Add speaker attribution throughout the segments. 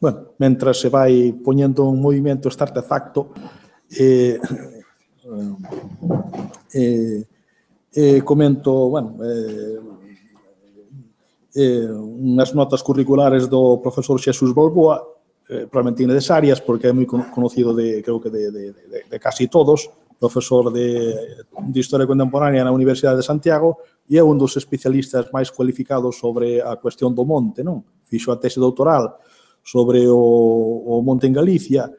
Speaker 1: Bueno, mentras se vai poñendo en movimento este artefacto, comento, bueno, unhas notas curriculares do profesor Xesús Balboa, probablemente innecesarias, porque é moi conocido creo que de casi todos, profesor de Historia Contemporánea na Universidade de Santiago, e é un dos especialistas máis cualificados sobre a cuestión do monte, non? Fixo a tese doutoral sobre o monte en Galicia,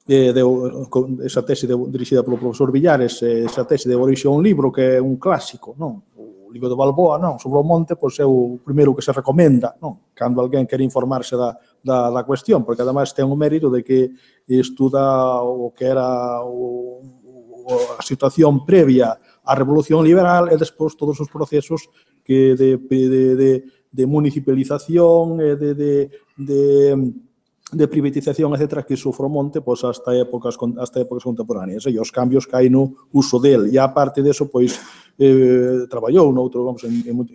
Speaker 1: esa tese dirixida polo profesor Villares, esa tese de orixe a un libro que é un clásico, non? O libro de Balboa, non? Sobre o monte, pois é o primeiro que se recomenda, non? Cando alguén quere informarse da cuestión, porque ademais ten o mérito de que estuda o que era a situación previa á Revolución Liberal e despois todos os procesos que de municipalización e de privatización, etc., que sufre o monte pois, hasta épocas contemporáneas, e os cambios que hai no uso del. E, a parte disso, pois, traballou en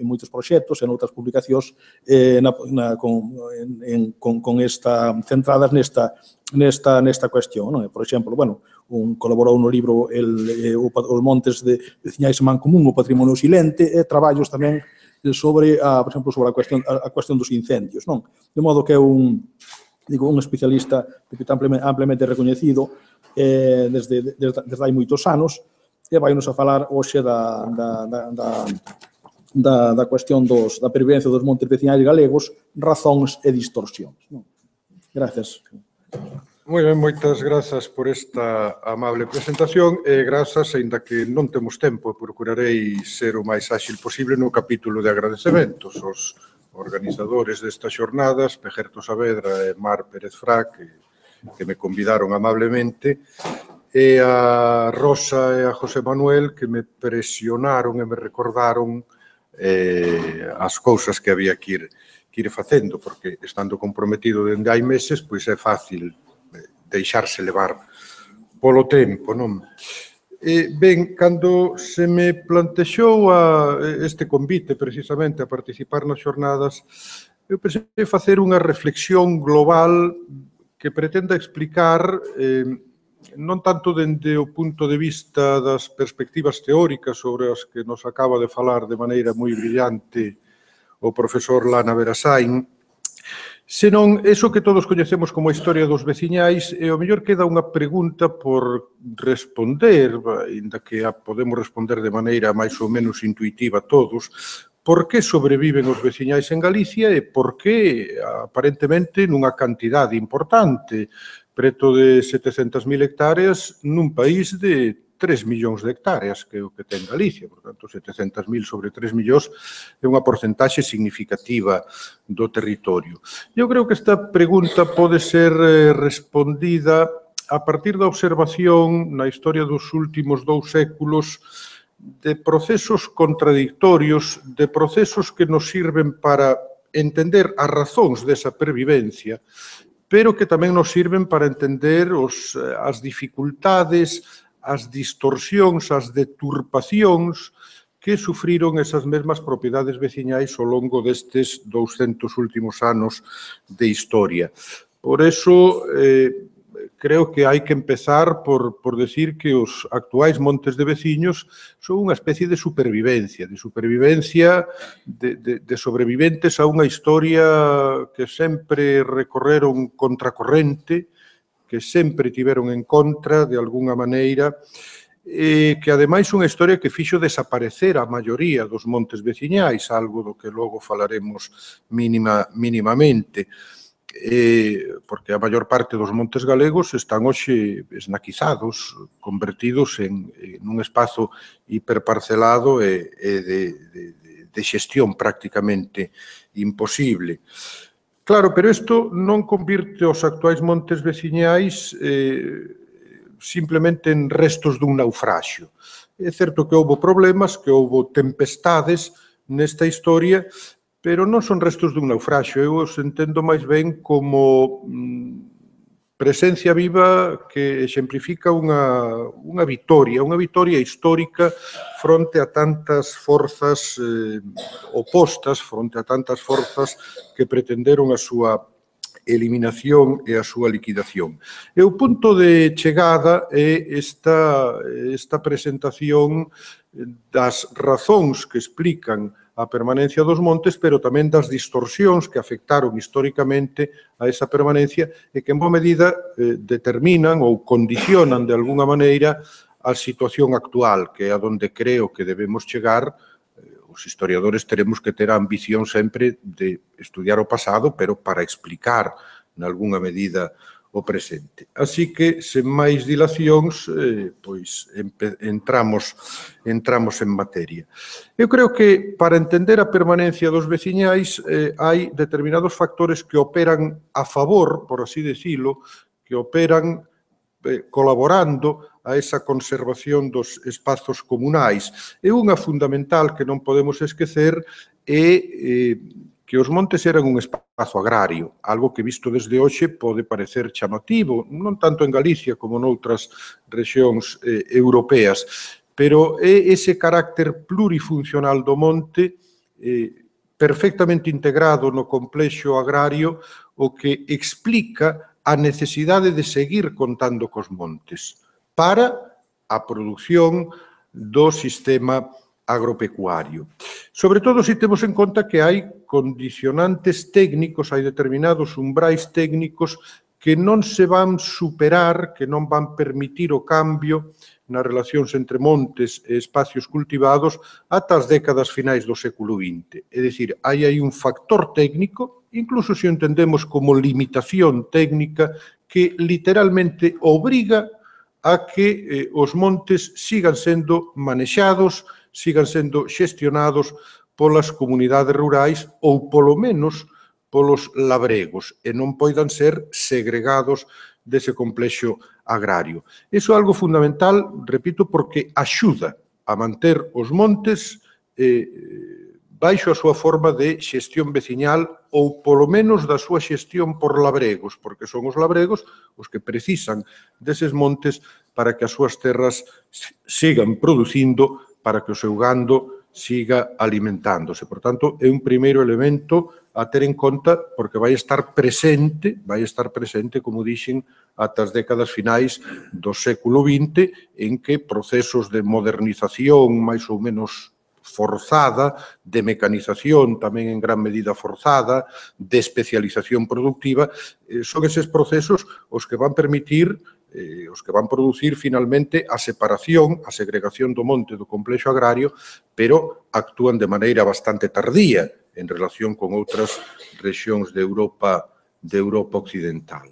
Speaker 1: moitos proxectos, en outras publicacións, centradas nesta cuestión. Non? Por exemplo, bueno, colaborou no libro Os montes veciñais en Mancomún, o patrimonio silente, e traballos tamén sobre, por exemplo, sobre a cuestión dos incendios. Non? De modo que é un especialista ampliamente recoñecido desde hai moitos anos, e vai nos a falar hoxe da cuestión da pervivencia dos montes veciñais galegos, razóns e distorsións. Gracias.
Speaker 2: Moi ben, moitas grazas por esta amable presentación e grazas, aínda que non temos tempo, procurarei ser o máis áxil posible no capítulo de agradecementos. Os organizadores destas xornadas, Pejerto Saavedra e Mar Pérez Fra, que me convidaron amablemente, e a Rosa e a José Manuel, que me presionaron e me recordaron as cousas que había que ir facendo, porque estando comprometido dende hai meses, pois é fácil deixarse levar polo tempo, non? Ben, cando se me plantexou este convite precisamente a participar nas xornadas, eu pensei facer unha reflexión global que pretenda explicar, non tanto dende o punto de vista das perspectivas teóricas sobre as que nos acaba de falar de maneira moi brillante o profesor Lana Verasain, senón eso que todos coñecemos como a historia dos veciñais, e ao mellor queda unha pregunta por responder, ainda que a podemos responder de maneira máis ou menos intuitiva todos, por que sobreviven os veciñais en Galicia e por que, aparentemente, nunha cantidade importante, preto de 700.000 hectáreas, nun país de 3 millóns de hectáreas, que é o que ten Galicia. Por tanto, 700.000 sobre 3 millóns é unha porcentaxe significativa do territorio. Eu creo que esta pregunta pode ser respondida a partir da observación na historia dos últimos 2 séculos de procesos contradictorios, de procesos que nos sirven para entender as razóns desa pervivencia, pero que tamén nos sirven para entender as dificultades, as distorsións, as deturpacións que sufriron esas mesmas propiedades veciñais ao longo destes 200 últimos anos de historia. Por eso, creo que hai que empezar por decir que os actuais montes de veciños son unha especie de supervivencia de sobreviventes a unha historia que sempre recorreron contracorrente, que sempre tiveron en contra, de algunha maneira, e que, ademais, unha historia que fixo desaparecer a maioría dos montes veciñais, algo do que logo falaremos mínimamente, porque a maior parte dos montes galegos están hoxe esnaquizados, convertidos en un espazo hiperparcelado e de xestión prácticamente imposible. Claro, pero isto non convirte os actuais montes veciñais simplemente en restos dun naufraxio. É certo que houbo problemas, que houbo tempestades nesta historia, pero non son restos dun naufraxio. Eu os entendo máis ben como presencia viva que exemplifica unha vitoria histórica fronte a tantas forzas opostas, fronte a tantas forzas que pretenderon a súa eliminación e a súa liquidación. E o punto de chegada é esta presentación das razóns que explican a permanencia dos montes, pero tamén das distorsións que afectaron históricamente a esa permanencia e que en boa medida determinan ou condicionan de alguna maneira a situación actual, que é a donde creo que debemos chegar. Os historiadores teremos que ter a ambición sempre de estudiar o pasado, pero para explicar, nalgúna medida, o presente. Así que, sen máis dilacións, pois entramos en materia. Eu creo que, para entender a permanencia dos veciñais, hai determinados factores que operan a favor, por así decirlo, que operan colaborando a esa conservación dos espazos comunais. E unha fundamental que non podemos esquecer é que os montes eran un espazo agrario, algo que visto desde hoxe pode parecer chamativo, non tanto en Galicia como noutras rexións europeas, pero é ese carácter plurifuncional do monte perfectamente integrado no complexo agrario o que explica a necesidade de seguir contando cos montes para a produción do sistema agropecuario. Sobre todo se temos en conta que hai condicionantes técnicos, hai determinados umbrais técnicos que non se van superar, que non van permitir o cambio nas relacións entre montes e espacios cultivados ata as décadas finais do século XX. É dicir, hai aí un factor técnico, incluso se o entendemos como limitación técnica, que literalmente obriga a que os montes sigan sendo manexados, sigan sendo xestionados polas comunidades rurais ou, polo menos, polos labregos e non poidan ser segregados dese complexo agrario. Iso é algo fundamental, repito, porque axuda a manter os montes baixo a súa forma de xestión veciñal ou, polo menos, da súa xestión por labregos, porque son os labregos os que precisan deses montes para que as súas terras sigan producindo, para que o seu gando siga alimentándose. Por tanto, é un primeiro elemento a ter en conta porque vai estar presente, como dixen, ata as décadas finais do século XX, en que procesos de modernización máis ou menos forzada, de mecanización tamén en gran medida forzada, de especialización productiva, son eses procesos os que van permitir, os que van producir finalmente a separación, a segregación do monte do complexo agrario, pero actúan de maneira bastante tardía en relación con outras rexións de Europa occidental.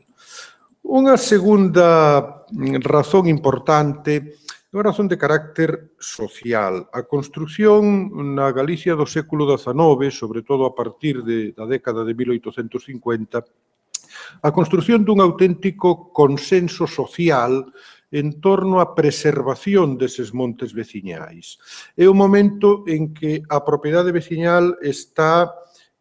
Speaker 2: Unha segunda razón importante é unha razón de carácter social. A construción na Galicia do século XIX, sobre todo a partir da década de 1850, a construción dun auténtico consenso social en torno á preservación deses montes veciñais. É o momento en que a propiedade veciñal está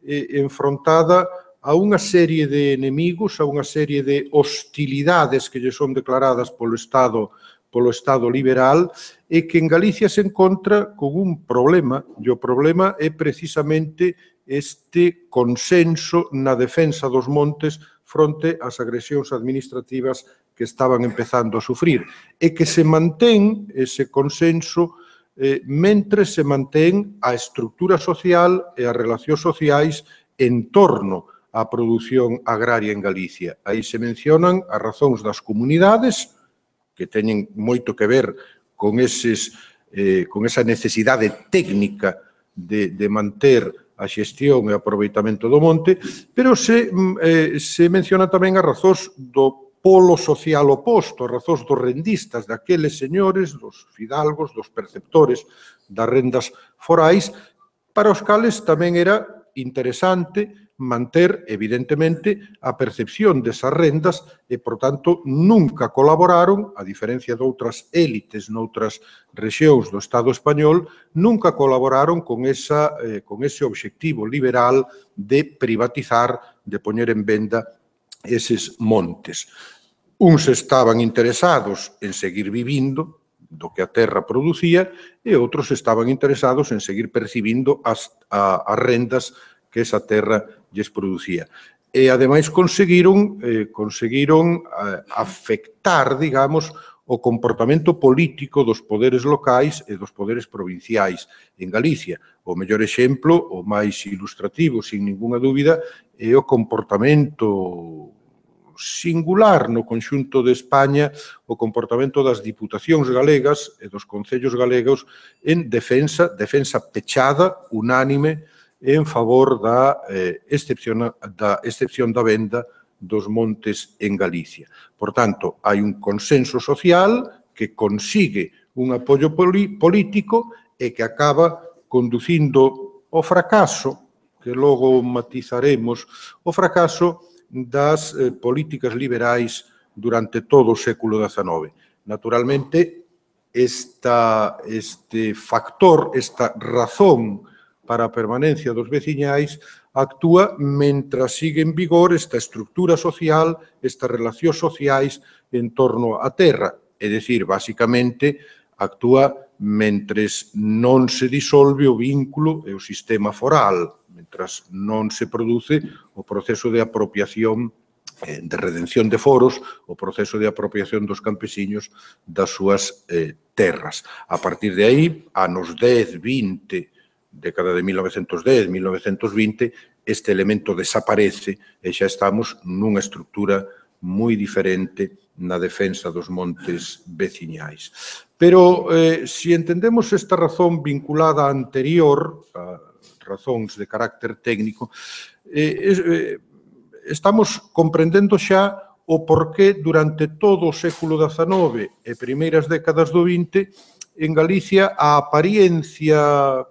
Speaker 2: enfrontada a unha serie de enemigos, a unha serie de hostilidades que lle son declaradas polo Estado liberal e que en Galicia se encontra con un problema, e o problema é precisamente este consenso na defensa dos montes fronte ás agresións administrativas que estaban empezando a sufrir e que se mantén ese consenso mentre se mantén a estructura social e as relacións sociais en torno á produción agraria en Galicia. Aí se mencionan as razóns das comunidades, que teñen moito que ver con esa necesidade técnica de manter a xestión e o aproveitamento do monte, pero se menciona tamén as razóns do polo social oposto, as razóns dos rendistas, daqueles señores, dos fidalgos, dos perceptores das rendas forais, para os cales tamén era interesante manter, evidentemente, a percepción desas rendas e, por tanto, nunca colaboraron, a diferencia de outras élites noutras rexións do Estado español, nunca colaboraron con ese obxectivo liberal de privatizar, de poñer en venda eses montes. Uns estaban interesados en seguir vivindo do que a terra producía e outros estaban interesados en seguir percibindo as rendas que esa terra lles producía. e, ademais, conseguiron afectar, digamos, o comportamento político dos poderes locais e dos poderes provinciais en Galicia. O mellor exemplo, o máis ilustrativo, sin ninguna dúbida, é o comportamento singular no conxunto de España, o comportamento das diputacións galegas e dos concellos galegos en defensa pechada, unánime, en favor da excepción da venda dos montes en Galicia. Por tanto, hai un consenso social que consigue un apoio político e que acaba conducindo ao fracaso, que logo matizaremos, o fracaso das políticas liberais durante todo o século XIX. Naturalmente, este factor, esta razón para a permanencia dos veciñais actúa mentras sigue en vigor esta estructura social, estas relacións sociais en torno á terra. É dicir, basicamente, actúa mentres non se disolve o vínculo e o sistema foral, mentras non se produce o proceso de apropiación, de redención de foros, o proceso de apropiación dos campesiños das súas terras. A partir de aí, anos 10, 20, década de 1910, 1920, este elemento desaparece e xa estamos nunha estructura moi diferente na defensa dos montes veciñais. Pero, se entendemos esta razón vinculada á anterior, a razóns de carácter técnico, estamos comprendendo xa o porqué durante todo o século XIX e primeiras décadas do XX en Galicia a apariencia,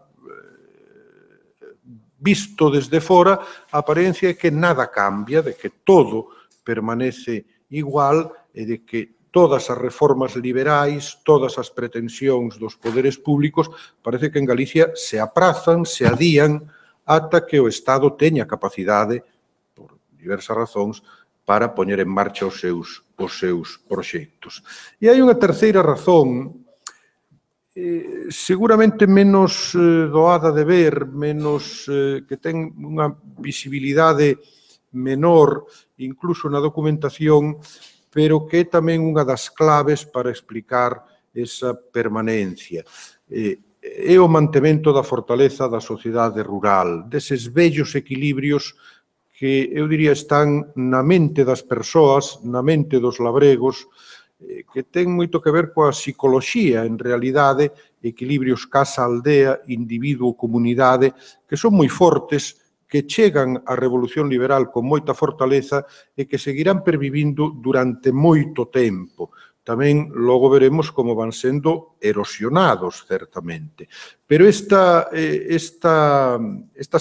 Speaker 2: visto desde fora, a apariencia é que nada cambia, de que todo permanece igual e de que todas as reformas liberais, todas as pretensións dos poderes públicos, parece que en Galicia se aprazan, se adían, ata que o Estado teña capacidade, por diversas razóns, para poñer en marcha os seus proxectos. E hai unha terceira razón, seguramente menos doada de ver, menos que ten unha visibilidade menor, incluso na documentación, pero que é tamén unha das claves para explicar esa permanencia. É o mantemento da fortaleza da sociedade rural, deses vellos equilibrios que, eu diría, están na mente das persoas, na mente dos labregos, que ten moito que ver coa psicoloxía, en realidade, equilibrios casa-aldea, individuo-comunidade, que son moi fortes, que chegan á Revolución Liberal con moita fortaleza e que seguirán pervivindo durante moito tempo. Tamén logo veremos como van sendo erosionados, certamente. Pero estas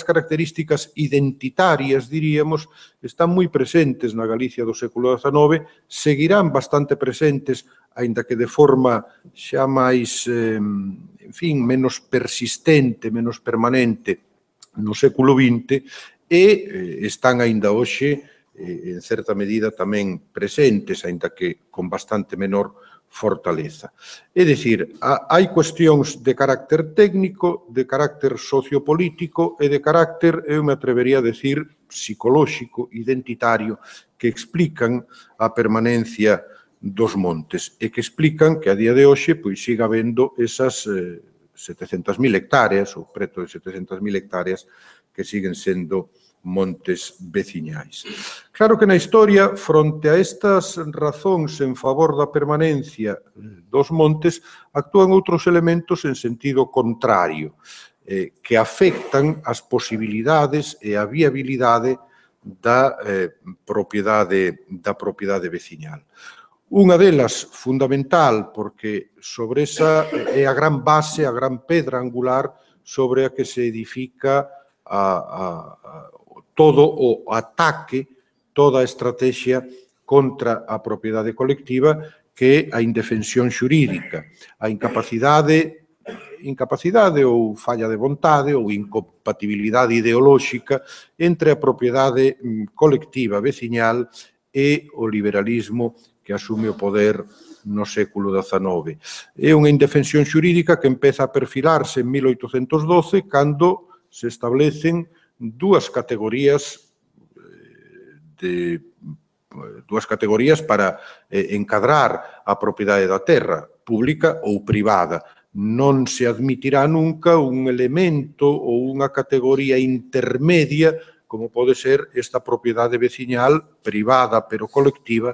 Speaker 2: características identitarias, diríamos, están moi presentes na Galicia do século XIX, seguirán bastante presentes, aínda que de forma xa máis, en fin, menos persistente, menos permanente, no século XX, e están aínda hoxe, en certa medida, tamén presentes, aínda que con bastante menor fortaleza. É dicir, hai cuestións de carácter técnico, de carácter sociopolítico e de carácter, eu me atrevería a decir, psicolóxico, identitario, que explican a permanencia dos montes e que explican que a día de hoxe pois siga habendo esas 700.000 hectáreas, ou preto de 700.000 hectáreas, que siguen sendo montes veciñais. Claro que na historia, fronte a estas razóns en favor da permanencia dos montes, actúan outros elementos en sentido contrario, que afectan as posibilidades e a viabilidade da propiedade veciñal. Unha delas, fundamental, porque sobre esa é a gran base, a gran pedra angular sobre a que se edifica todo o ataque, toda a estrategia contra a propiedade colectiva, que é a indefensión xurídica, a incapacidade ou falla de vontade ou incompatibilidade ideolóxica entre a propiedade colectiva veciñal e o liberalismo que asume o poder no século XIX. É unha indefensión xurídica que empeza a perfilarse en 1812, cando se establecen dúas categorías dúas categorías para encadrar a propiedade da terra, pública ou privada. Non se admitirá nunca un elemento ou unha categoría intermedia como pode ser esta propiedade veciñal privada pero colectiva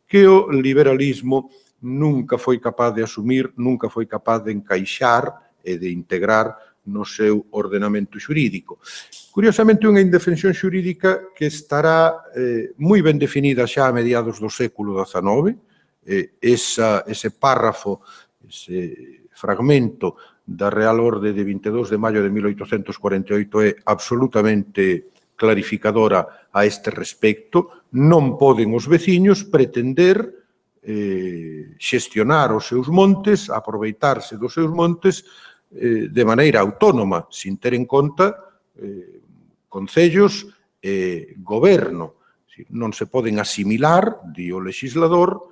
Speaker 2: que o liberalismo nunca foi capaz de asumir, nunca foi capaz de encaixar e de integrar no seu ordenamento xurídico. Curiosamente, unha indefensión xurídica que estará moi ben definida xa a mediados do século XIX. Ese párrafo, ese fragmento da Real Orde de 22 de maio de 1848 é absolutamente clarificadora a este respecto. Non poden os veciños pretender xestionar os seus montes, aproveitarse dos seus montes de maneira autónoma, sin ter en conta concellos e goberno. Non se poden asimilar, di o legislador,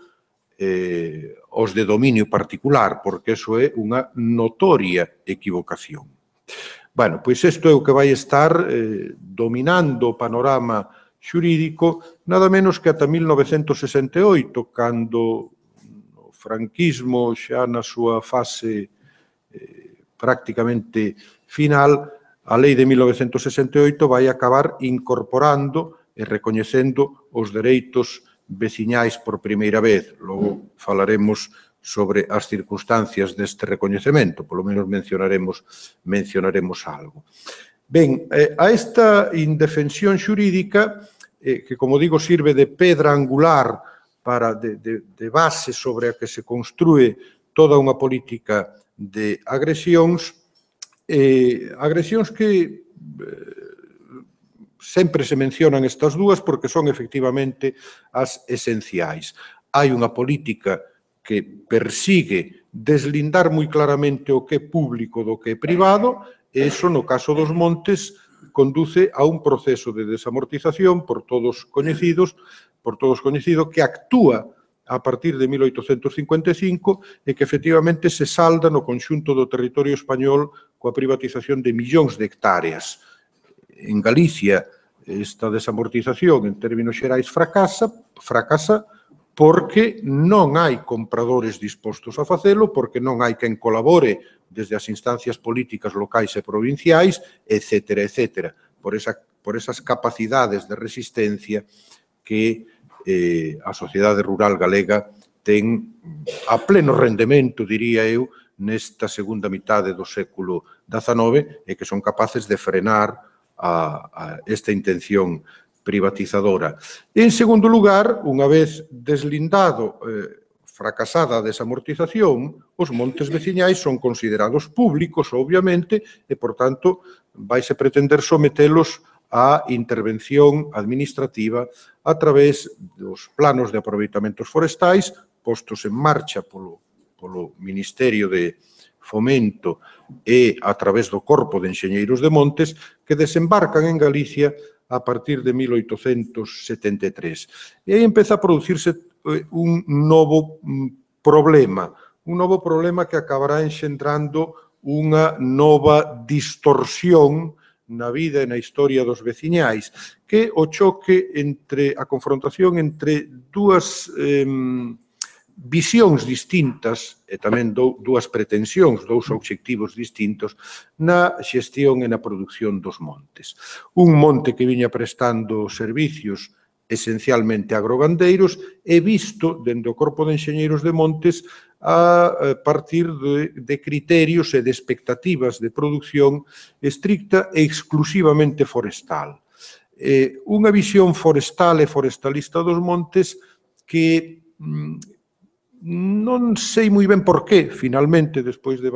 Speaker 2: os de dominio particular, porque eso é unha notoria equivocación. Bueno, pois isto é o que vai estar dominando o panorama xurídico nada menos que ata 1968, cando o franquismo xa na súa fase prácticamente final, a lei de 1968 vai acabar incorporando e recoñecendo os dereitos veciñais por primeira vez. Logo falaremos sobre as circunstancias deste recoñecemento, polo menos mencionaremos algo. Ben, a esta indefensión xurídica, que, como digo, sirve de pedra angular de base sobre a que se construe toda unha política de agresións que sempre se mencionan estas dúas porque son efectivamente as esenciais. Hai unha política que persigue deslindar moi claramente o que é público do que é privado e iso, no caso dos montes, conduce a un proceso de desamortización por todos coñecido que actúa a partir de 1855 e que efectivamente se salda no conxunto do territorio español coa privatización de millóns de hectáreas. En Galicia, esta desamortización, en términos xerais, fracasa porque non hai compradores dispostos a facelo, porque non hai quen colabore desde as instancias políticas locais e provinciais, etc., etc., por esas capacidades de resistencia que a sociedade rural galega ten a pleno rendemento, diría eu, nesta segunda mitade do século XIX e que son capaces de frenar esta intención privatizadora. En segundo lugar, unha vez deslindado, fracasada a desamortización, os montes veciñais son considerados públicos, obviamente, e, por tanto, vaise pretender sometelos á intervención administrativa a través dos planos de aproveitamentos forestais postos en marcha polo Ministerio de Fomento e a través do Corpo de Enxeñeiros de Montes que desembarcan en Galicia a partir de 1873. E aí empeza a producirse un novo problema que acabará enxendrando unha nova distorsión na vida e na historia dos veciñais, que o choque entre a confrontación entre dúas visións distintas e tamén dúas pretensións, dous obxectivos distintos na xestión e na produción dos montes. Un monte que viña prestando servicios esencialmente agrogandeiros e visto dende o Corpo de Enxeñeiros de Montes a partir de criterios e de expectativas de produción estricta e exclusivamente forestal. Unha visión forestal e forestalista dos montes que non sei moi ben por qué, finalmente, despois de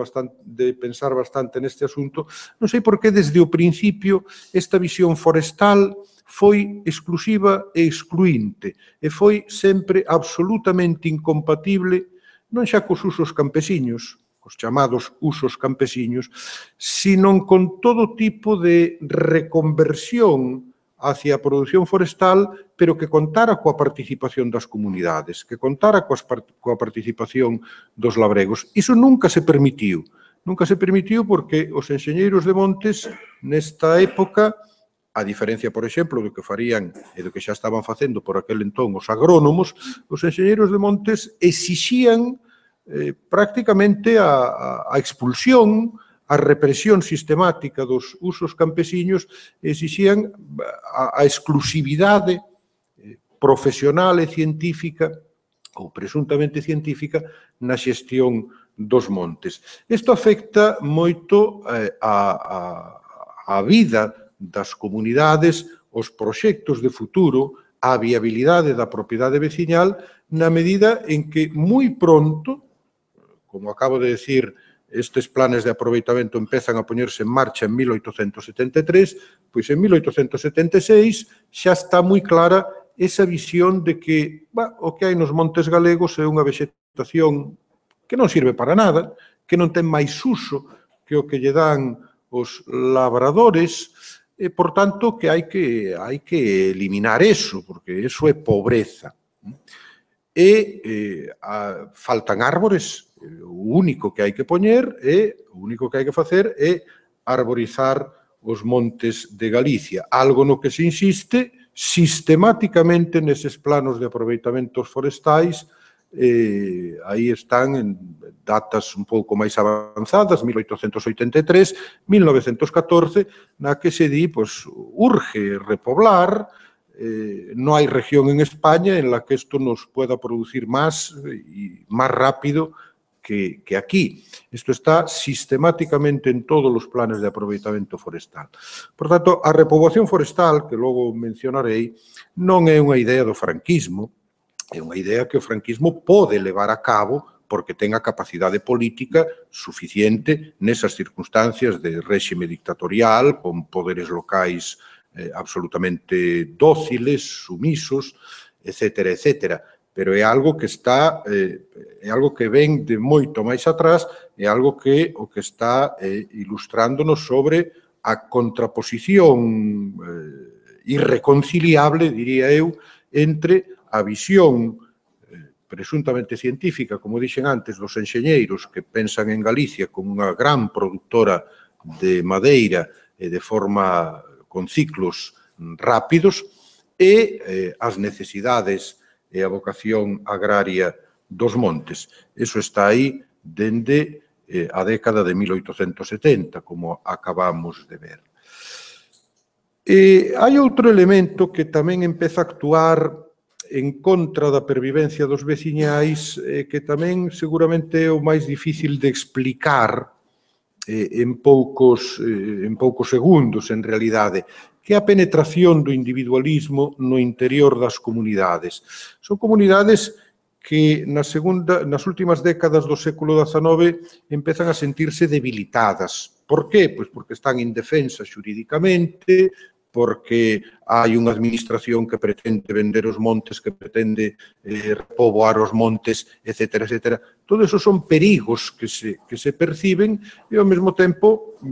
Speaker 2: pensar bastante neste asunto, non sei por qué desde o principio esta visión forestal foi exclusiva e excluinte e foi sempre absolutamente incompatible non xa cos usos campesiños, os chamados usos campesiños, sino con todo tipo de reconversión hacia a produción forestal, pero que contara coa participación das comunidades, que contara coa participación dos labregos. Iso nunca se permitiu. Nunca se permitiu porque os enxeñeiros de montes, nesta época, a diferencia, por exemplo, do que farían e do que xa estaban facendo por aquel entón os agrónomos, os enxeñeiros de montes exixían prácticamente a expulsión, a represión sistemática dos usos campesiños, exixían a exclusividade profesional e científica ou presuntamente científica na xestión dos montes. Isto afecta moito a vida das comunidades, os proxectos de futuro, a viabilidade da propiedade veciñal, na medida en que moi pronto, como acabo de decir, estes planes de aproveitamento empezan a poñerse en marcha en 1873, pois en 1876 xa está moi clara esa visión de que o que hai nos montes galegos é unha vexetación que non sirve para nada, que non ten máis uso que o que lle dan os labradores, e, por tanto, que hai que eliminar eso, porque eso é pobreza. E faltan árbores, o único que hai que poñer o único que hai que facer é arborizar os montes de Galicia, algo no que se insiste sistemáticamente neses planos de aproveitamentos forestais. Aí están en datas un pouco máis avanzadas, 1883, 1914, na que se di, pois, urge repoblar, non hai región en España en la que isto nos pueda producir máis e máis rápido que aquí. Isto está sistemáticamente en todos os planes de aproveitamento forestal. Por tanto, a repoboación forestal, que logo mencionarei, non é unha idea do franquismo, é unha idea que o franquismo pode levar a cabo porque ten a capacidade política suficiente nesas circunstancias de réxime dictatorial, con poderes locais absolutamente dóciles, sumisos, etcétera, etcétera. Pero é algo que está, é algo que ven de moito máis atrás, é algo que o que está ilustrándonos sobre a contraposición irreconciliable, diría eu, entre a visión presuntamente científica, como dixen antes, dos enxeñeiros que pensan en Galicia como unha gran produtora de madeira e de forma con ciclos rápidos, e as necesidades e a vocación agraria dos montes. Eso está aí dende a década de 1870, como acabamos de ver. Hai outro elemento que tamén empeza a actuar en contra da pervivencia dos veciñais, que tamén seguramente é o máis difícil de explicar en poucos segundos, en realidade, que é a penetración do individualismo no interior das comunidades. Son comunidades que nas últimas décadas do século XIX empezan a sentirse debilitadas. Por qué? Pois porque están indefensas xurídicamente, porque hai unha administración que pretende vender os montes, que pretende repoboar os montes, etcétera, etcétera. Todo eso son perigos que se perciben e, ao mesmo tempo,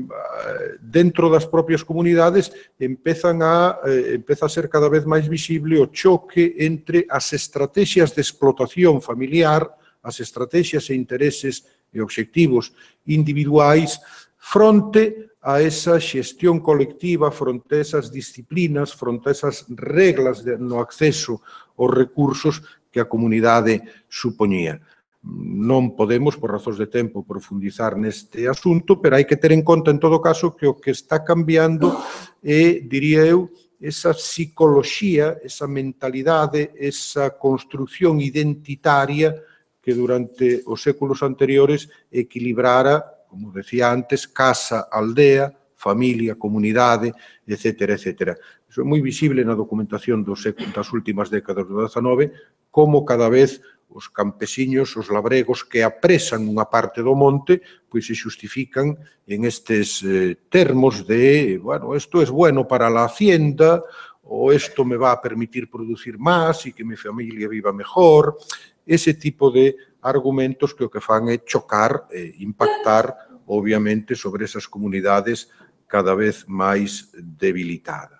Speaker 2: dentro das propias comunidades, empeza a ser cada vez máis visible o choque entre as estrategias de explotación familiar, as estrategias e intereses e obxectivos individuais, fronte a esa xestión colectiva, fronte a esas disciplinas, fronte a esas reglas no acceso aos recursos que a comunidade supoñía. Non podemos, por razóns de tempo, profundizar neste asunto, pero hai que ter en conta, en todo caso, que o que está cambiando é, diría eu, esa psicoloxía, esa mentalidade, esa construción identitaria que durante os séculos anteriores equilibrara, como decía antes, casa, aldea, familia, comunidade, etcétera, etcétera. Iso é moi visible na documentación das últimas décadas do XIX, como cada vez os campesiños, os labregos que apresan unha parte do monte, pois se xustifican en estes termos de, bueno, isto é bueno para a hacienda, ou isto me va a permitir producir máis e que mi familia viva mejor. Ese tipo de argumentos que o que fan é chocar e impactar, obviamente, sobre esas comunidades cada vez máis debilitadas.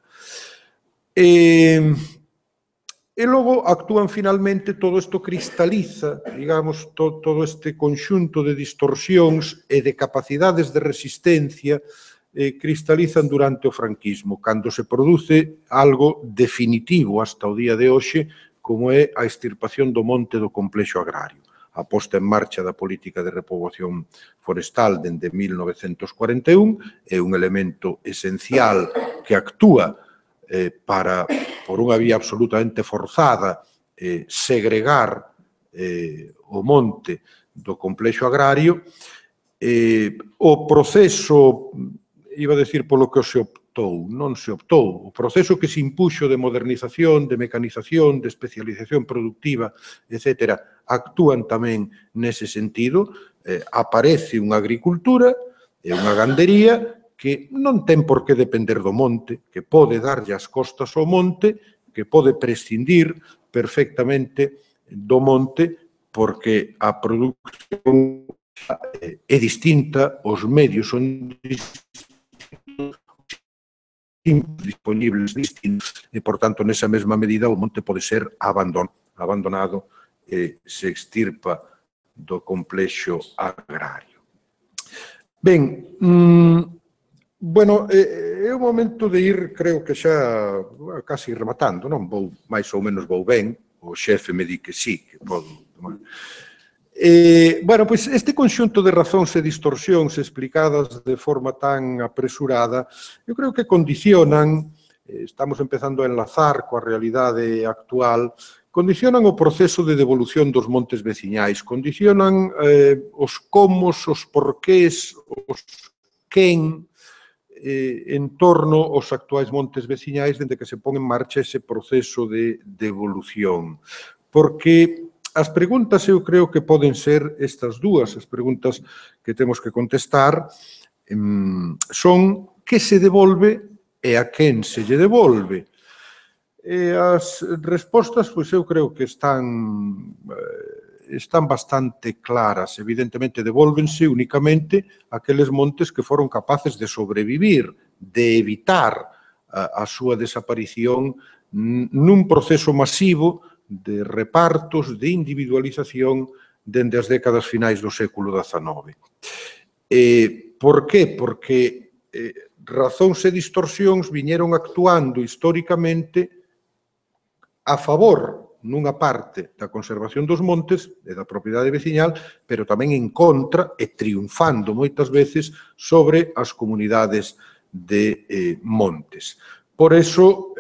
Speaker 2: E logo actúan finalmente, todo isto cristaliza, digamos, todo este conxunto de distorsións e de capacidades de resistencia cristalizan durante o franquismo, cando se produce algo definitivo hasta o día de hoxe, como é a extirpación do monte do complexo agrario. A posta en marcha da política de repoboación forestal dende 1941 é un elemento esencial que actúa para, por unha vía absolutamente forzada, segregar o monte do complexo agrario. O proceso, iba a decir polo que se optou, non se optou, o proceso que se impuxo de modernización, de mecanización, de especialización productiva, etc., actúan tamén nese sentido. Aparece unha agricultura e unha gandería que non ten por que depender do monte, que pode darlle as costas ao monte, que pode prescindir perfectamente do monte, porque a produción é distinta, os medios son distintos, disponibles distintos, e, por tanto, nesa mesma medida, o monte pode ser abandonado e se extirpa do complexo agrario. Ben, bueno, é o momento de ir, creo que xa casi rematando, non? Mais ou menos vou ben, o xefe me di que sí, que podo tomar. Bueno, pois este conxunto de razóns e distorsións explicadas de forma tan apresurada, eu creo que condicionan, estamos empezando a enlazar coa realidade actual, condicionan o proceso de devolución dos montes veciñais, condicionan os comos, os porqués, os quen, en torno aos actuais montes veciñais dende que se pon en marcha ese proceso de devolución. Porque as preguntas eu creo que poden ser estas dúas, as preguntas que temos que contestar son que se devolve e a quen se lle devolve. As respostas, pois eu creo que están bastante claras. Evidentemente, devólvense únicamente aqueles montes que foron capaces de sobrevivir, de evitar a súa desaparición nun proceso masivo de repartos, de individualización dende as décadas finais do século XIX. Por qué? Porque razóns e distorsións viñeron actuando históricamente a favor, nunha parte, da conservación dos montes e da propiedade veciñal, pero tamén en contra e triunfando moitas veces sobre as comunidades de montes. Por eso,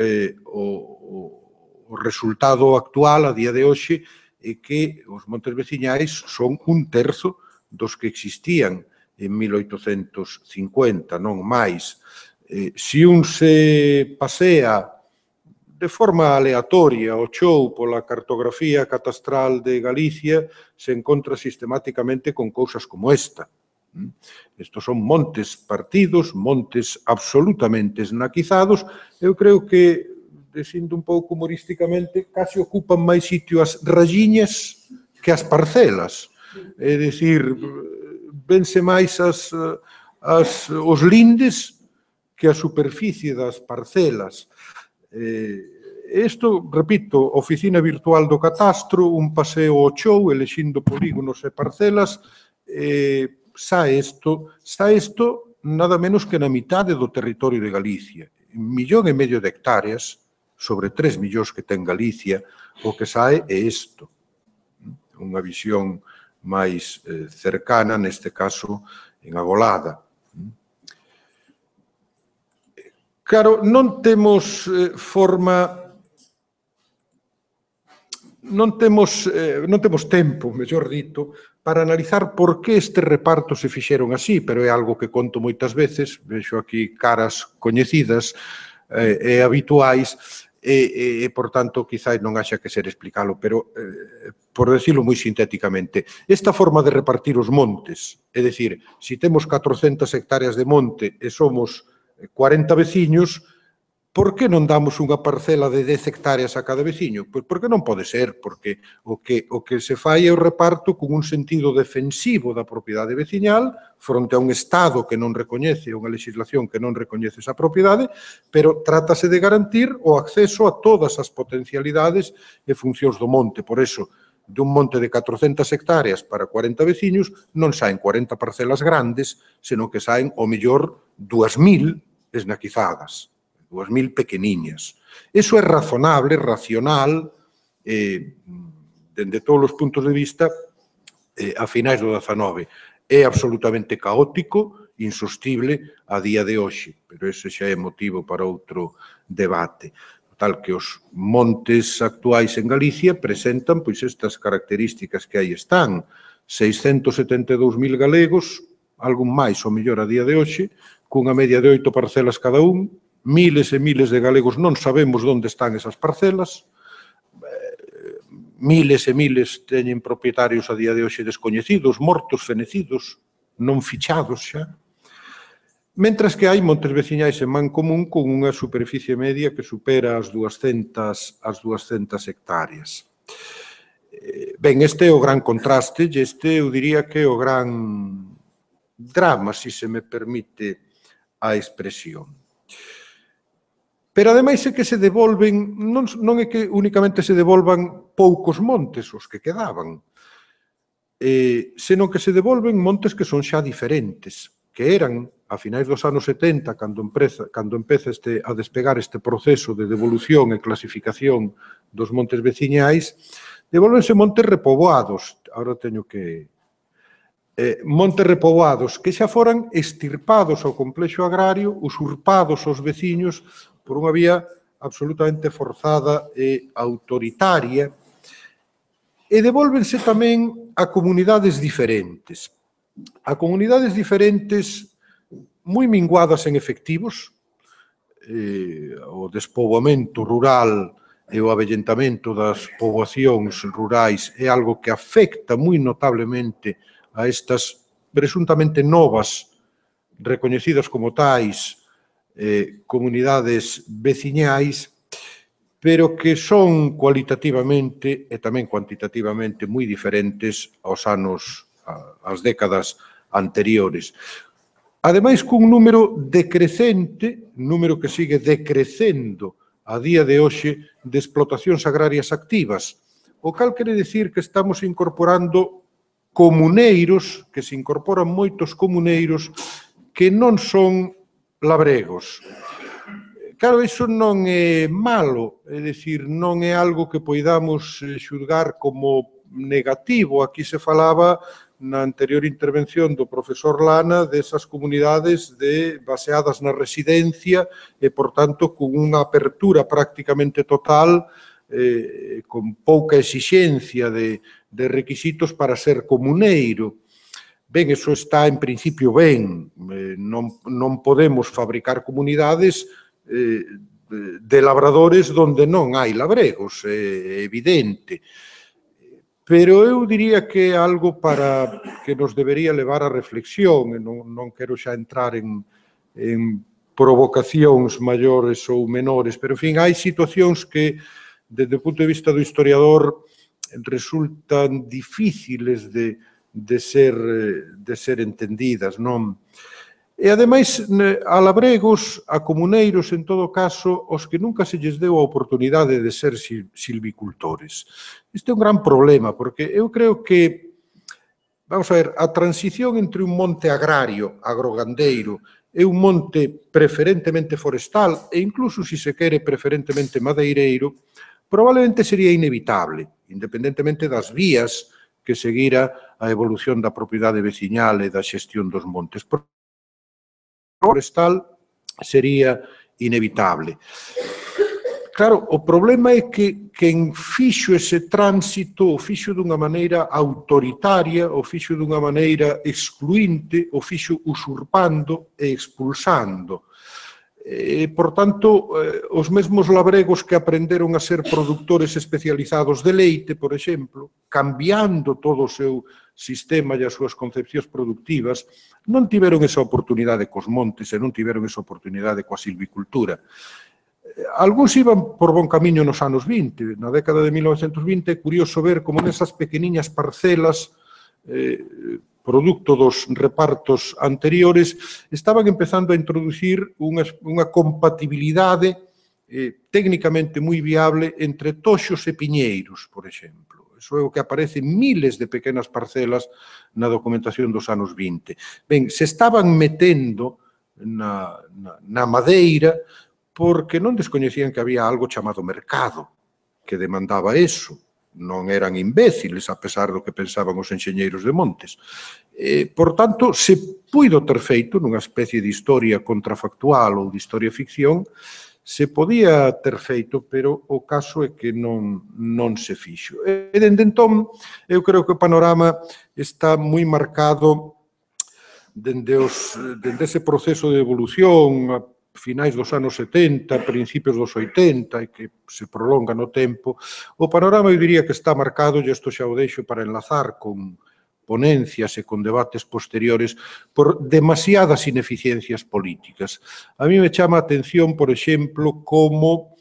Speaker 2: o resultado actual, a día de hoxe, é que os montes veciñais son 1/3 dos que existían en 1850, non máis. Se un se pasea de forma aleatoria o chou pola cartografía catastral de Galicia, se encontra sistemáticamente con cousas como esta. Estos son montes partidos, montes absolutamente esnaquizados. Eu creo que, dicindo un pouco humorísticamente, casi ocupan máis sitio as rayiñas que as parcelas. É dicir, vense máis os lindes que a superficie das parcelas. Isto, repito, oficina virtual do catastro, un paseo ao chou, elexindo polígonos e parcelas, sae isto nada menos que na mitade do territorio de Galicia. 1,5 millón de hectáreas, sobre 3 millóns que ten Galicia, o que sae é isto. Unha visión máis cercana, neste caso, en Agolada. Claro, non temos tempo, mellor dito, para analizar por que estes repartos se fixeron así, pero é algo que conto moitas veces, vexo aquí caras coñecidas e habituais, e, por tanto, quizás non haxa que ser explicalo, pero, por decirlo moi sintéticamente, esta forma de repartir os montes, é dicir, se temos 400 hectáreas de monte e somos 40 veciños, por que non damos unha parcela de 10 hectáreas a cada veciño? Pois porque non pode ser, porque o que se fai é o reparto con un sentido defensivo da propiedade veciñal fronte a un Estado que non recoñece, unha legislación que non recoñece esa propiedade, pero trátase de garantir o acceso a todas as potencialidades e funcións do monte. Por eso, dun monte de 400 hectáreas para 40 veciños non saen 40 parcelas grandes, senón que saen, ao mellor, 2.000 esnaquizadas, 2.000 pequeniñas. Iso é razonable, racional, dende todos os puntos de vista, a finais do 19. É absolutamente caótico, insostible a día de hoxe, pero ese xa é motivo para outro debate. Tal que os montes actuais en Galicia presentan pois estas características que aí están. 672.000 galegos, algún máis ou mellor a día de hoxe, cunha media de 8 parcelas cada un, miles e miles de galegos non sabemos onde están esas parcelas, miles e miles teñen propietarios a día de hoxe descoñecidos, mortos, fenecidos, non fichados xa. Mentras que hai montes veciñais en Mancomún con unha superficie media que supera as 200 hectáreas. Ben, este é o gran contraste, e este eu diría que é o gran drama, se me permite a expresión. Pero, ademais, é que se devolven, non é que únicamente se devolvan poucos montes, os que quedaban, senón que se devolven montes que son xa diferentes, que eran, a finais dos anos 70, cando empeza a despegar este proceso de devolución e clasificación dos montes veciñais, devolvense montes repoboados, agora teño que... montes repoboados que xa foran extirpados ao complexo agrario, usurpados aos veciños por unha vía absolutamente forzada e autoritaria, e devolvense tamén a comunidades diferentes. A comunidades diferentes moi minguadas en efectivos, o despoboamento rural e o avellentamento das poboacións rurais é algo que afecta moi notablemente a estas presuntamente novas, recoñecidas como tais, comunidades veciñais, pero que son cualitativamente e tamén cuantitativamente moi diferentes ás décadas anteriores. Ademais, cun número decrecente, número que sigue decrecendo a día de hoxe de explotacións agrarias activas, o cal quere dicir que estamos incorporando comuneiros, que se incorporan moitos comuneiros que non son labregos. Claro, iso non é malo, é dicir, non é algo que poidamos xulgar como negativo. Aquí se falaba na anterior intervención do profesor Lana desas comunidades baseadas na residencia e, por tanto, con unha apertura prácticamente total, con pouca exixencia de requisitos para ser comuneiro. Ben, iso está en principio ben. Non podemos fabricar comunidades de labradores onde non hai labregos, é evidente. Pero eu diría que é algo para que nos debería levar a reflexión, e non quero xa entrar en provocacións maiores ou menores, pero, en fin, hai situacións que, desde o punto de vista do historiador, resultan difíciles de ser entendidas, non? E, ademais, a labregos, a comuneiros, en todo caso, os que nunca se lles deu a oportunidade de ser silvicultores. Este é un gran problema, porque eu creo que, vamos a ver, a transición entre un monte agrario, agrogandeiro, e un monte preferentemente forestal, e incluso, se se quere, preferentemente madeireiro, probablemente sería inevitable, independentemente das vías que seguira a evolución da propiedade veciñal e da xestión dos montes. Forestal sería inevitable. Claro, o problema é que quen fixo ese tránsito o fixo dunha maneira autoritaria, o fixo dunha maneira excluinte, o fixo usurpando e expulsando. Por tanto, os mesmos labregos que aprenderon a ser produtores especializados de leite, por exemplo, cambiando todo o seu sistema e as súas concepcións productivas, non tiveron esa oportunidade cos montes e non tiveron esa oportunidade coa silvicultura. Algúns iban por bon camiño nos anos 20. Na década de 1920 é curioso ver como nesas pequeniñas parcelas, producto dos repartos anteriores, estaban empezando a introducir unha compatibilidade técnicamente moi viable entre toxos e piñeiros, por exemplo. Iso é o que aparece en miles de pequenas parcelas na documentación dos anos 20. Ben, se estaban metendo na madeira porque non descoñecían que había algo chamado mercado que demandaba eso. Non eran imbéciles, a pesar do que pensaban os enxeñeiros de montes. Por tanto, se puido ter feito nunha especie de historia contrafactual ou de historia ficción, se podía ter feito, pero o caso é que non se fixo. E dende entón, eu creo que o panorama está moi marcado dende ese proceso de evolución a finais dos anos 70, principios dos 80, e que se prolonga no tempo. O panorama, eu diría que está marcado, e isto xa o deixo para enlazar con ponencias e con debates posteriores, por demasiadas ineficiencias políticas. A mí me chama a atención, por exemplo, como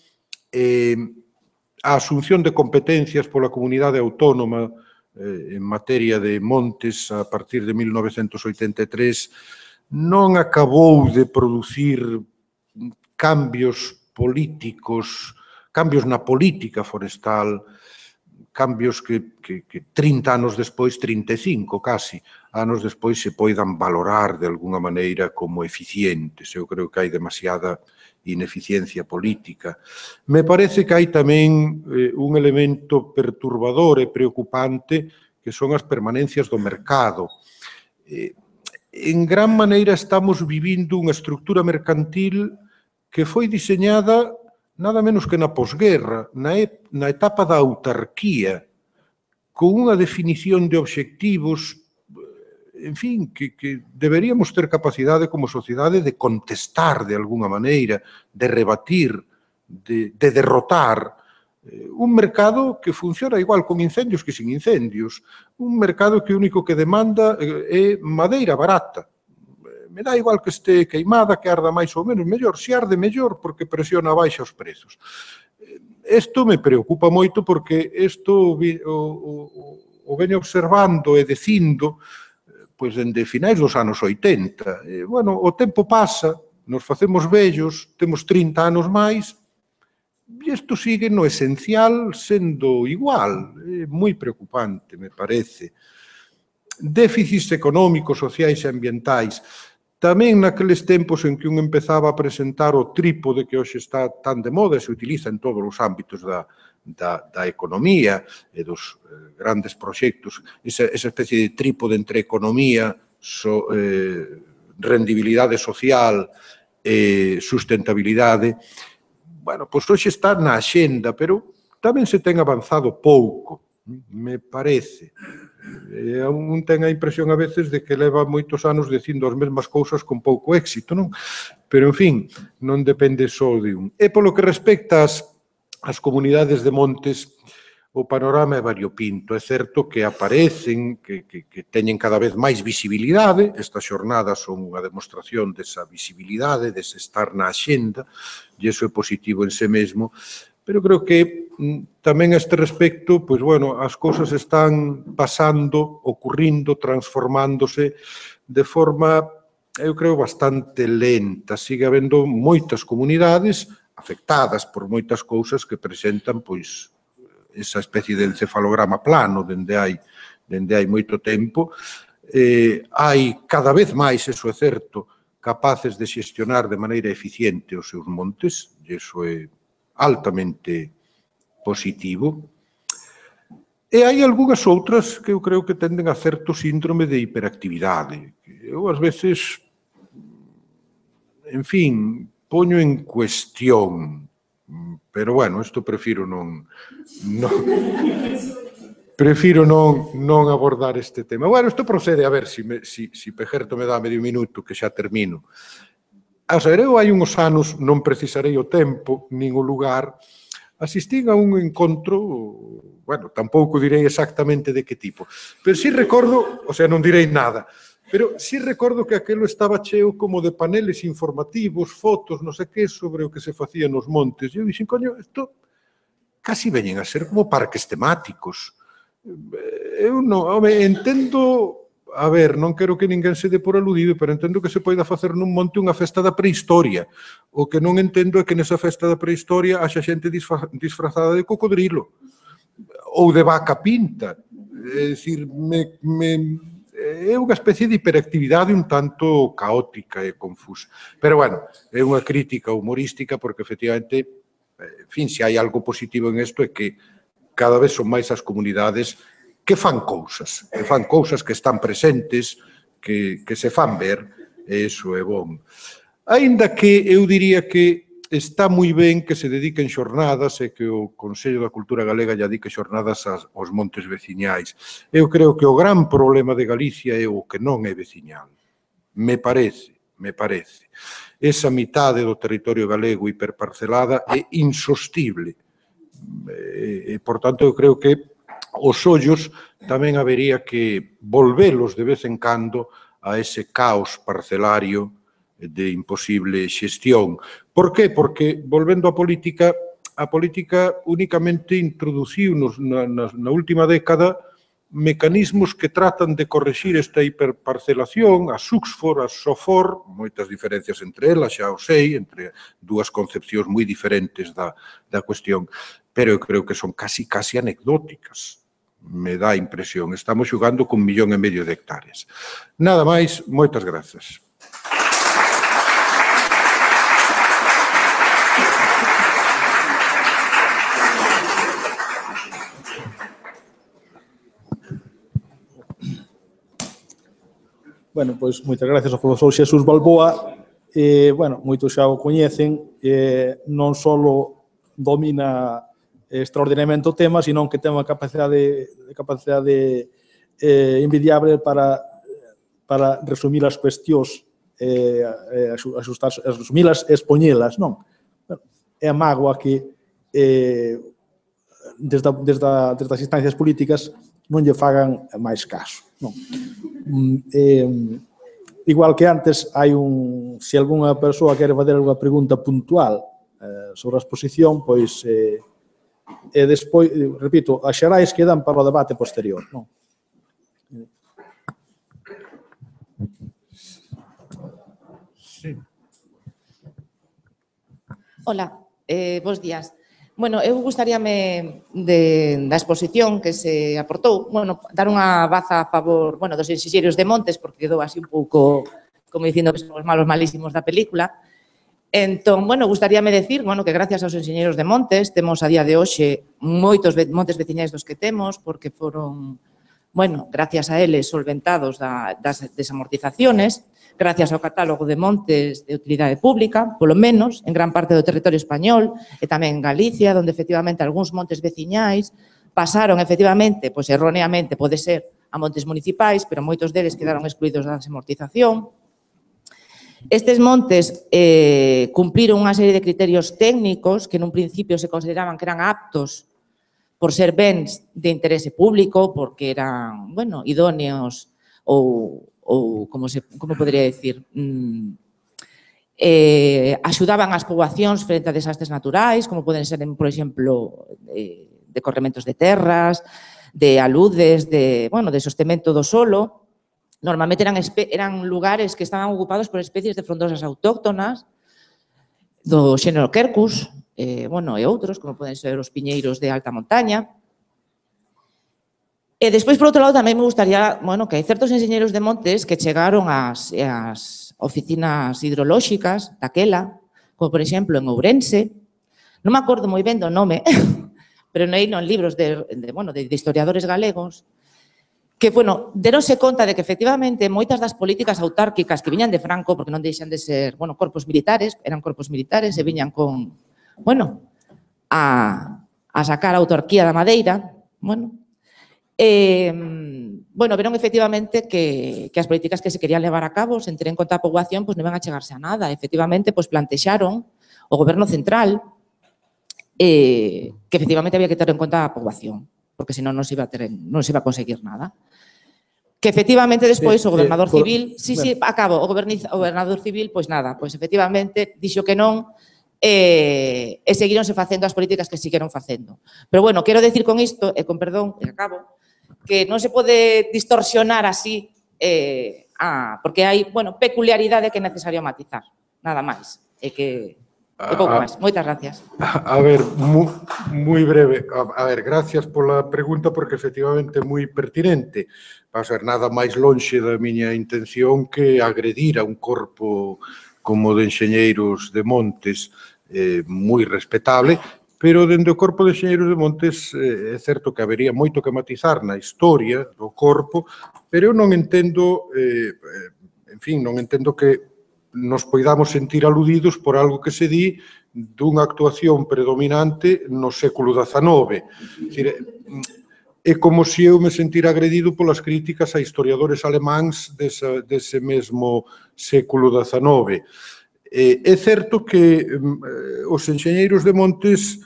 Speaker 2: a asunción de competencias pola comunidade autónoma en materia de montes a partir de 1983 non acabou de producir cambios políticos, cambios na política forestal, cambios que 30 anos despois, 35 casi, anos despois se poidan valorar de alguna maneira como eficientes. Eu creo que hai demasiada ineficiencia política. Me parece que hai tamén un elemento perturbador e preocupante que son as permanencias do mercado. En gran maneira estamos vivindo unha estructura mercantil que foi diseñada nada menos que na posguerra, na etapa da autarquía, con unha definición de obxectivos, en fin, que deberíamos ter capacidade como sociedade de contestar de alguna maneira, de rebatir, de derrotar. Un mercado que funciona igual con incendios que sin incendios. Un mercado que o único que demanda é madeira barata. Me dá igual que este queimada, que arda máis ou menos, mellor. Se arde, mellor, porque presiona baixa os prezos. Isto me preocupa moito porque isto o veño observando e dicindo pois dende finais dos anos 80. Bueno, o tempo pasa, nos facemos vellos, temos 30 anos máis, e isto sigue no esencial sendo igual. É moi preocupante, me parece. Déficits económicos, sociais e ambientais. Tamén naqueles tempos en que un empezaba a presentar o trípode que hoxe está tan de moda e se utiliza en todos os ámbitos da economía e dos grandes proxectos, esa especie de trípode entre economía, rendibilidade social e sustentabilidade, bueno, pois hoxe está na axenda, pero tamén se ten avanzado pouco, me parece. Un ten a impresión a veces de que leva moitos anos dicindo as mesmas cousas con pouco éxito, non? Pero, en fin, non depende só de un. E polo que respecta ás comunidades de montes, o panorama é variopinto. É certo que aparecen, que teñen cada vez máis visibilidade. Estas xornadas son unha demostración desa visibilidade, dese estar na axenda, e iso é positivo en sí mesmo. Pero creo que tamén a este respecto, pois, bueno, as cousas están pasando, ocurrindo, transformándose de forma, eu creo, bastante lenta. Sigue habendo moitas comunidades afectadas por moitas cousas que presentan, pois, esa especie de encefalograma plano dende hai moito tempo. Hai cada vez máis, eso é certo, capaces de xestionar de maneira eficiente os seus montes, e iso é altamente positivo. E hai algunhas outras que eu creo que tenden a certo síndrome de hiperactividade. Eu, ás veces, en fin, poño en cuestión, pero, bueno, isto prefiro non abordar este tema. Bueno, isto procede, a ver, se Pejerto me dá medio minuto, que xa termino. A saber, eu hai uns anos, non precisarei o tempo, nin o lugar, asistín a un encontro, bueno, tampouco direi exactamente de que tipo, pero si recordo, o sea, non direi nada, pero si recordo que aquelo estaba cheo como de paneles informativos, fotos, non sei que, sobre o que se facía nos montes. E eu dixen, coño, isto casi veñen a ser como parques temáticos. Eu non, home, entendo... A ver, non quero que ninguén se dé por aludido, pero entendo que se poida facer nun monte unha festa da prehistoria. O que non entendo é que nesa festa da prehistoria haxa xente disfrazada de cocodrilo. ou de vaca pinta. É dicir, é unha especie de hiperactividade un tanto caótica e confusa. Pero, bueno, é unha crítica humorística porque, efectivamente, en fin, se hai algo positivo en isto é que cada vez son máis as comunidades que fan cousas que están presentes, que se fan ver, e iso é bom. Aínda que eu diría que está moi ben que se dediquen xornadas e que o Consello da Cultura Galega lle dedique xornadas aos montes veciñais. Eu creo que o gran problema de Galicia é o que non é veciñal. Me parece. Esa mitade do territorio galego hiperparcelada é insostible. E, por tanto, eu creo que os ollos tamén habería que volvelos de vez en cando a ese caos parcelario de imposible xestión. Por qué? Porque, volvendo á política, a política únicamente introduciu na última década mecanismos que tratan de corrixir esta hiperparcelación, a Suxfor, a Sofor, moitas diferencias entre elas, xa o sei, entre dúas concepcións moi diferentes da cuestión, pero eu creo que son casi anecdóticas. Me dá a impresión. Estamos xogando con 1,5 millón de hectáreas. Nada máis, moitas grazas.
Speaker 1: Bueno, pois moitas gracias ao profesor Xesús Balboa. Bueno, moitos xa o coñecen, non só domina extraordinariamente o tema, sino que ten unha capacidade envidiable para resumir as cuestións, resumilas e expoñelas, non? É a mágoa que desde as instancias políticas non lle fagan máis caso, non? Igual que antes, se algunha persoa quere fazer alguna pregunta puntual sobre a exposición, pois, e despois, repito, as xerais quedan para o debate posterior, non?
Speaker 2: Sí.
Speaker 3: Hola, bos días. Bueno, eu gustaríame da exposición que se aportou, bueno, dar unha baza a favor, bueno, dos enxeñeiros de Montes, porque quedou así un pouco, como dicindo que son os malos malísimos da película. Entón, bueno, gustaríame decir, bueno, que gracias aos enxeñeiros de Montes temos a día de hoxe moitos montes veciñais dos que temos, porque foron, bueno, gracias a eles solventados das desamortizaciones, gracias ao catálogo de montes de utilidade pública, polo menos, en gran parte do territorio español e tamén en Galicia, onde efectivamente algúns montes veciñais pasaron efectivamente, pois erróneamente pode ser, a montes municipais, pero moitos deles quedaron excluídos da desamortización. Estes montes cumpriron unha serie de criterios técnicos que nun principio se consideraban que eran aptos por ser bens de interese público, porque eran, bueno, idóneos ou como podría decir, axudaban as poboacións frente a desastres naturais, como poden ser, por exemplo, de corrementos de terras, de aludes, de sostemento do solo. Normalmente eran lugares que estaban ocupados por especies de frondosas autóctonas do xénero Quercus, e outros, como poden ser os piñeiros de alta montaña. E despois, por outro lado, tamén me gustaría, que hai certos enxeñeiros de montes que chegaron ás oficinas hidrolóxicas daquela, como, por exemplo, en Ourense. Non me acordo moi ben do nome, pero non en libros de historiadores galegos, que, deronse conta de que, efectivamente, moitas das políticas autárquicas que viñan de Franco, porque non deixan de ser, corpos militares, eran corpos militares e viñan con, a sacar a autarquía da madeira, verón efectivamente que as políticas que se querían levar a cabo, sen ter en conta a poboación, non iban a chegarse a nada. Efectivamente, plantexaron o goberno central que efectivamente había que ter en conta a poboación, porque senón non se iba a conseguir nada. Que efectivamente despois o gobernador civil, o gobernador civil, efectivamente dixo que non, e seguironse facendo as políticas que sigueron facendo. Pero, quero decir con isto, e con perdón, e acabo, que non se pode distorsionar así, porque hai, peculiaridade que é necesario matizar, nada máis. E que... E pouco máis. Moitas gracias.
Speaker 2: A ver, moi breve. A ver, gracias pola pregunta porque efectivamente é moi pertinente. Va a ser nada máis lonxe da miña intención que agredir a un corpo como de enxeñeiros de montes moi respetable, pero dende o corpo de enxeñeiros de montes é certo que habería moito que matizar na historia do corpo, pero eu non entendo, en fin, non entendo que nos poidamos sentir aludidos por algo que se di dunha actuación predominante no século XIX. É como se eu me sentira agredido polas críticas a historiadores alemáns dese mesmo século XIX. É certo que os enxeñeiros de montes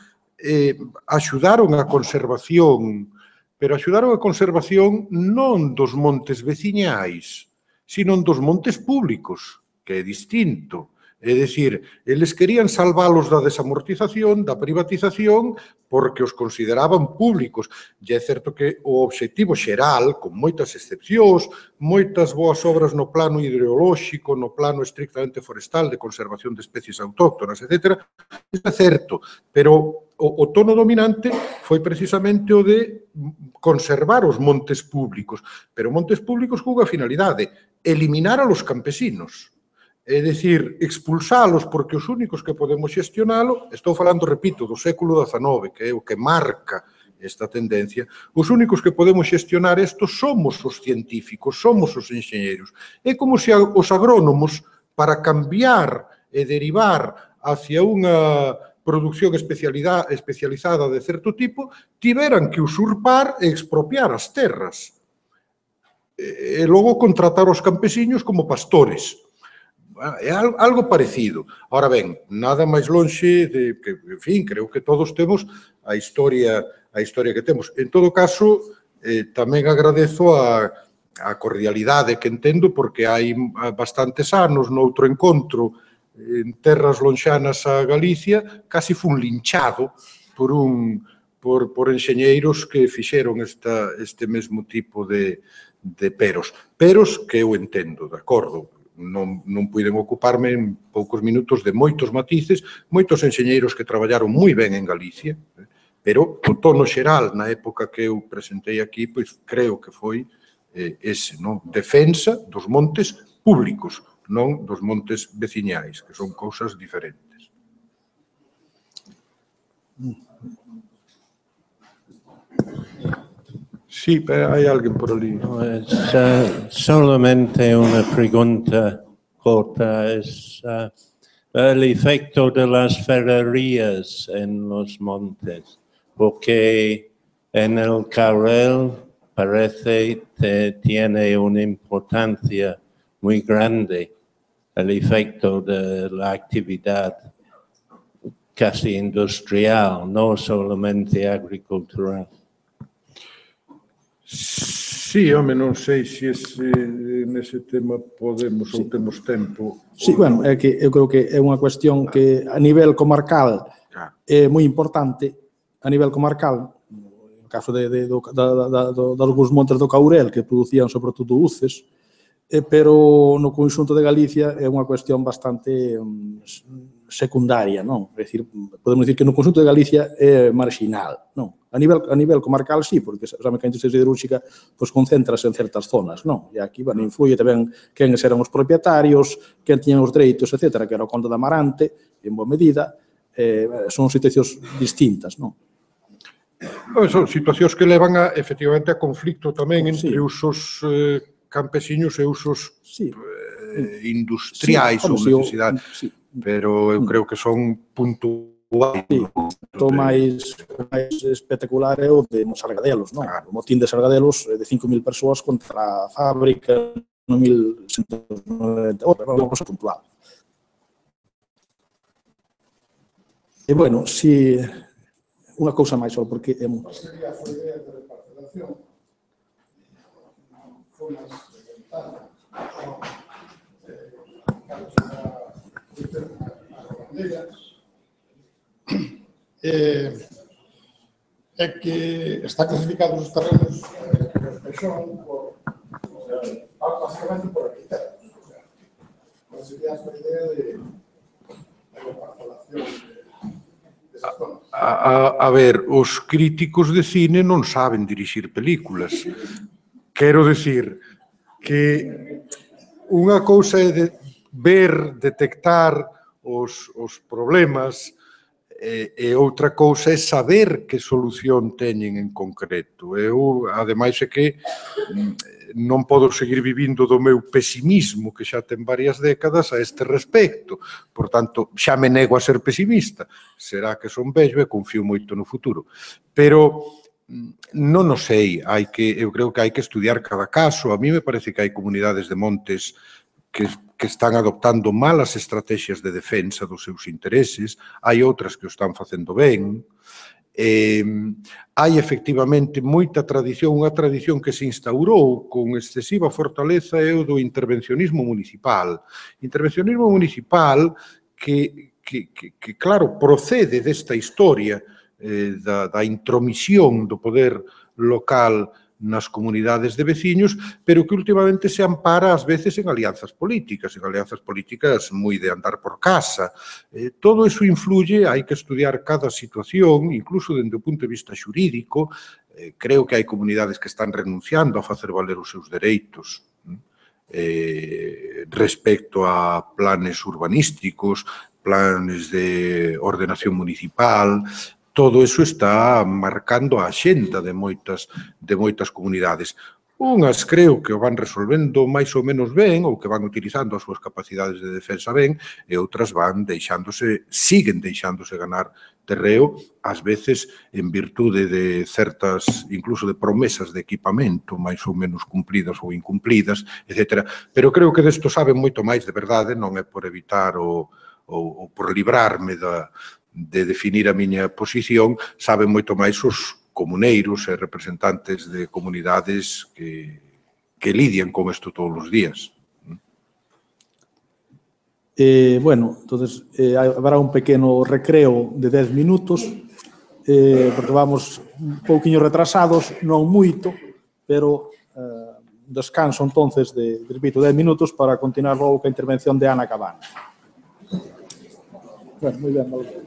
Speaker 2: axudaron a conservación, pero axudaron a conservación non dos montes veciñais, sino dos montes públicos, que é distinto. É dicir, eles querían salvalos da desamortización, da privatización, porque os consideraban públicos. E é certo que o obxectivo xeral, con moitas excepcións, moitas boas obras no plano hidrolóxico, no plano estrictamente forestal, de conservación de especies autóctonas, etc., é certo, pero o tono dominante foi precisamente o de conservar os montes públicos, pero montes públicos cunha finalidade, eliminar a los campesinos. É dicir, expulsalos porque os únicos que podemos xestionalo, estou falando, repito, do século XIX, que é o que marca esta tendencia, os únicos que podemos xestionar isto somos os científicos, somos os enxeñeiros. É como se os agrónomos, para cambiar e derivar hacia unha produción especializada de certo tipo, tiveran que usurpar e expropiar as terras. E logo contratar os campesiños como pastores. É algo parecido. Ahora ben, nada máis lonxe de que, en fin, creo que todos temos a historia que temos. En todo caso, tamén agradezo a cordialidade que entendo, porque hai bastantes anos, noutro encontro, en terras lonxanas a Galicia, casi fun linchado por enxeñeiros que fixeron este mesmo tipo de peros. Peros que eu entendo, de acordo. Non puiden ocuparme en poucos minutos de moitos matices, moitos enxeñeiros que traballaron moi ben en Galicia, pero o tono xeral na época que eu presentei aquí, pois creo que foi ese, non? Defensa dos montes públicos, non dos montes veciñais, que son cousas diferentes. Sí, hai alguén por ali.
Speaker 4: Solamente una pregunta corta. Es el efecto de las ferrerías en los montes, porque en el Caurel parece que tiene una importancia muy grande el efecto de la actividad casi industrial, no solamente agricultural.
Speaker 2: Sí, home, non sei se nese tema podemos ou temos tempo.
Speaker 1: Sí, bueno, é que eu creo que é unha cuestión que a nivel comarcal é moi importante, a nivel comarcal, no caso dos montes do Caurel, que producían sobre todo uces, pero no conxunto de Galicia é unha cuestión bastante secundaria, non? É dicir, podemos dicir que no conxunto de Galicia é marginal, non? A nivel comarcal, sí, porque sabe que a industria siderúrxica concentrase en certas zonas, non? E aquí, bueno, influye tamén quen eran os propietarios, quen tiñan os dereitos, etc., que era o Conde de Amarante, en boa medida, son situacións distintas, non?
Speaker 2: Son situacións que levan, efectivamente, a conflicto tamén entre usos campesiños e usos industriais ou necesidades, pero eu creo que son puntuais.
Speaker 1: O máis espectacular é o de Sargadelos, non? O motín de Sargadelos de 5.000 persoas contra a fábrica no 1190, unha cosa puntual. E, bueno, si unha cousa máis só, porque é moi...
Speaker 5: Sería a idea de reparcelación, formas de ventana, é que está clasificados os terrenos que son basicamente por arquitectos. Sería a idea de
Speaker 2: A ver, os críticos de cine non saben dirixir películas. Quero decir que unha cousa é ver, detectar os problemas e outra cousa é saber que solución teñen en concreto. Eu, ademais, é que non podo seguir vivindo do meu pesimismo, que xa ten varias décadas a este respecto. Por tanto, xa me nego a ser pesimista. Será que son vello e confío moito no futuro. Pero non o sei. Eu creo que hai que estudiar cada caso. A mí me parece que hai comunidades de montes que están adoptando malas estrategias de defensa dos seus intereses, hai outras que o están facendo ben. Hai efectivamente moita tradición, unha tradición que se instaurou con excesiva fortaleza é o do intervencionismo municipal. Intervencionismo municipal que claro, procede desta historia da intromisión do poder local nas comunidades de veciños, pero que últimamente se ampara ás veces en alianzas políticas moi de andar por casa. Todo iso influye, hai que estudiar cada situación, incluso dende o punto de vista xurídico. Creo que hai comunidades que están renunciando a facer valer os seus dereitos respecto a planes urbanísticos, planes de ordenación municipal. Todo iso está marcando a axenda de moitas comunidades. Unhas creo que o van resolvendo máis ou menos ben ou que van utilizando as súas capacidades de defensa ben e outras siguen deixándose ganar terreo, ás veces en virtude de certas, incluso de promesas de equipamento máis ou menos cumplidas ou incumplidas, etc. Pero creo que desto saben moito máis de verdade, non é por evitar ou por librarme de definir a miña posición, saben moito máis os comuneiros e representantes de comunidades que lidian con isto todos os días.
Speaker 1: Bueno, entonces habrá un pequeno recreo de 10 minutos, porque vamos un pouquiño retrasados, non moito, pero descanso entonces repito, 10 minutos para continuar logo ca intervención de Ana Cabana. Bueno, moi ben, vale.